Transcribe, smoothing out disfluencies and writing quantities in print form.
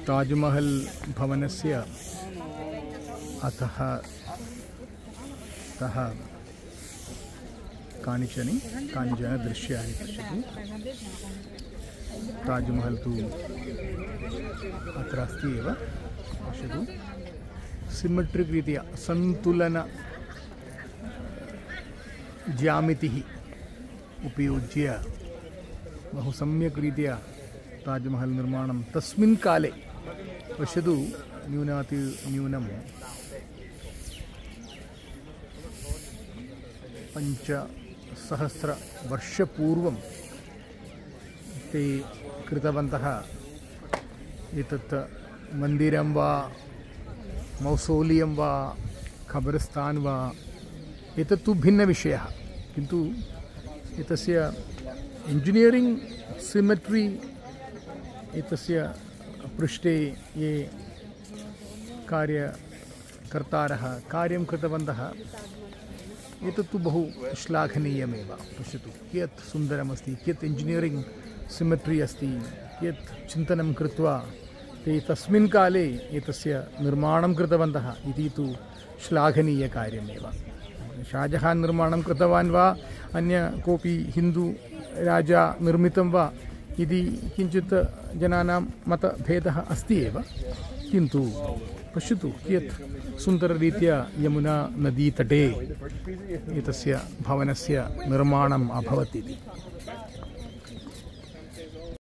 ताजमहल भवनस्य अतः कानिचन दृश्यानि पश्यतु। ताजमहल तु अत्र अस्ति एव, पश्यतु। सिमेट्रिक् रीत्या सन्तुलन ज्यामितिः उपयुज्य बहु सम्यक् रीत्या ताजमहल निर्माणं तस्मिन् काले, पश्यतु, न्यूनं 5,000 वर्षपूर्वं ते कृतवन्तः। एतत् मन्दिरं वा मौसोलियं वा खबरस्तान् वा एतत्तु भिन्नविषयः, किन्तु एतस्य इंजिनियरिंग सिमेट्री एतस्य पृष्ठे ये कार्यकर्तारः कार्यं कृतवन्तः एतत्तु बहु श्लाघनीयमेव। पश्यतु कियत् सुन्दरमस्ति, कियत् इंजिनियरिंग सिमेट्री अस्ति, कियत् चिन्तनं कृत्वा ते तस्मिन् काले एतस्य निर्माणं कृतवन्तः इति तु श्लाघनीयकार्यमेव। शाहजहान् निर्माणं कृतवान् वा अन्य कोऽपि हिन्दू राजा निर्मितं वा इति किञ्चित् जनानां मतभेदः अस्ति एव, किन्तु पश्यतु कियत् सुन्दररीत्या यमुना नदीतटे एतस्य भवनस्य निर्माणम् अभवत् इति।